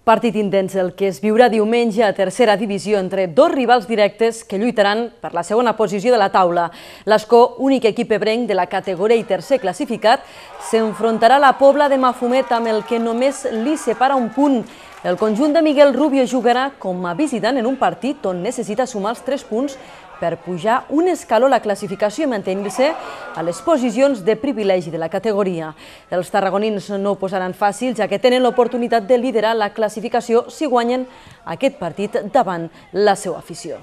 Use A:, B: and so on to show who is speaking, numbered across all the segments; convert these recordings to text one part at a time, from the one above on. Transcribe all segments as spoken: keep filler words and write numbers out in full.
A: Partit intens el que es viurà diumenge a tercera divisió entre dos rivals directes que lluitaran per la segona posició de la taula. L'Escó, únic equip ebrenc de la categoria i tercer classificat, s'enfrontarà a la Pobla de Mafumet amb el que només li separa un punt. El conjunt de Miguel Rubio jugarà com a visitant en un partit on necessita sumar els tres punts per pujar un escaló a la classificació i mantenir-se a les posicions de privilegi de la categoria. Els tarragonins no ho posaran fàcil, ja que tenen l'oportunitat de liderar la classificació si guanyen aquest partit davant la seva afició.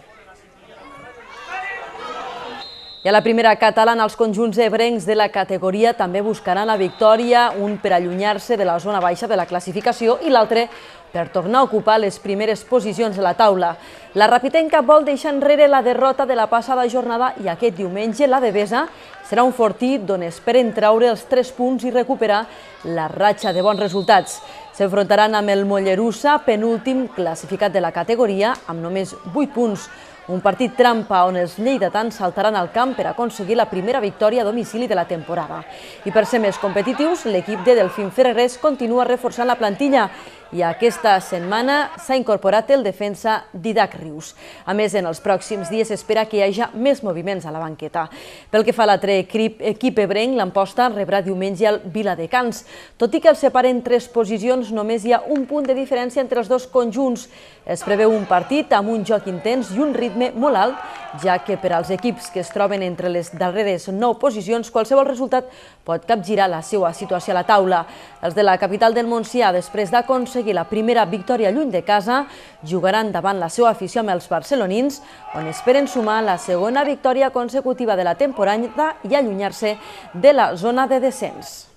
A: I a la primera catalana, els conjunts ebrencs de la categoria també buscaran la victòria, un per allunyar-se de la zona baixa de la classificació i l'altre per tornar a ocupar les primeres posicions de la taula. La Rapitenca vol deixar enrere la derrota de la passada jornada i aquest diumenge la Devesa serà un fortí d'on esperen treure els tres punts i recuperar la ratxa de bons resultats. S'enfrontaran amb el Mollerussa, penúltim classificat de la categoria, amb només vuit punts. Un partit trampa on els lleidatans saltaran al camp per aconseguir la primera victòria a domicili de la temporada. I per ser més competitius, l'equip de Delfín Ferrerés continua reforçant la plantilla i aquesta setmana s'ha incorporat el defensa Didac Rius. A més, en els pròxims dies s'espera que hi hagi més moviments a la banqueta. Pel que fa a l'altre equip ebrenc, l'Amposta rebrà diumenge el Viladecans. Tot i que els separen tres posicions, només hi ha un punt de diferència entre els dos conjunts. Es preveu un partit amb un joc intens i un ritme molt alt, ja que per als equips que es troben entre les darreres nou posicions, qualsevol resultat pot capgirar la seva situació a la taula. Els de la capital del Montsià, després d'aconseguir la primera victòria lluny de casa, jugaran davant la seva afició amb els barcelonins, on esperen sumar la segona victòria consecutiva de la temporada i allunyar-se de la zona de descens.